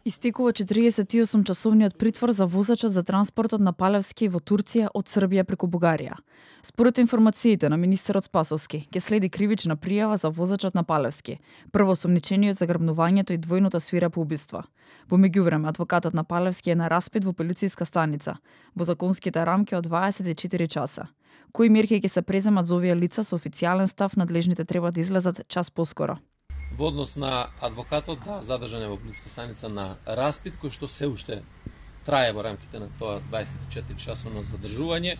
Истекува 48-часовниот притвор за возачот за транспортот на Палевски во Турција од Србија преку Бугарија. Според информациите на министерот Спасовски, ќе следи кривична пријава за возачот на Палевски, прво осомничениот за грабнувањето и двојното свирепо убиство. Во меѓувреме, адвокатот на Палевски е на распит во полициска станица, во законските рамки од 24 часа. Кои мерки ќе се преземат за овие лица со официјален став, надлежните треба да излезат час поскоро. Во однос на адвокатот, задржан е во полициска станица на распит, кој што се уште трае во рамките на тоа 24 часовно задржување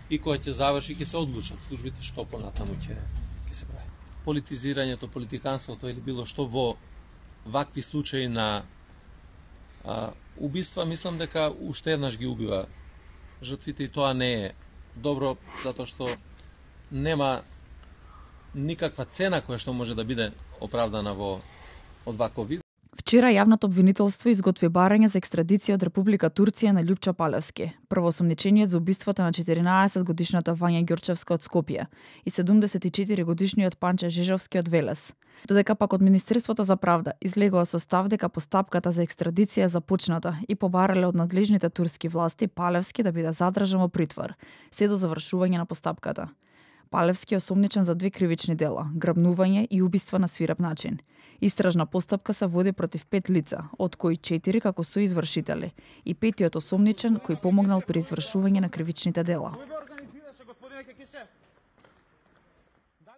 и кој ќе заврши, ќе се одлучат службите што понатаму ќе се прави. Политизирањето, политиканството или било што во вакви случаи на убиства, мислам дека уште еднаш ги убива жртвите и тоа не е добро, затоа што нема никаква цена која што може да биде оправдана од ваков вид. Вчера јавното обвинителство изготви барање за екстрадиција од Република Турција на Љупча Палевски, првоосомничениот за убиството на 14-годишната Вања Ѓорчевска од Скопје и 74-годишниот Панче Жежовски од Велес. Додека пак од Министерството за правда излегува со став дека постапката за екстрадиција е започната и побарале од надлежните турски власти Палевски да биде задржан во притвор, се до завршување на постапката. Палевски е осомничен за 2 кривични дела – грабнување и убиство на свиреп начин. Истражна постапка се води против 5 лица, од кои 4 како соизвршители и 5-тиот осомничен кој помогнал при извршување на кривичните дела.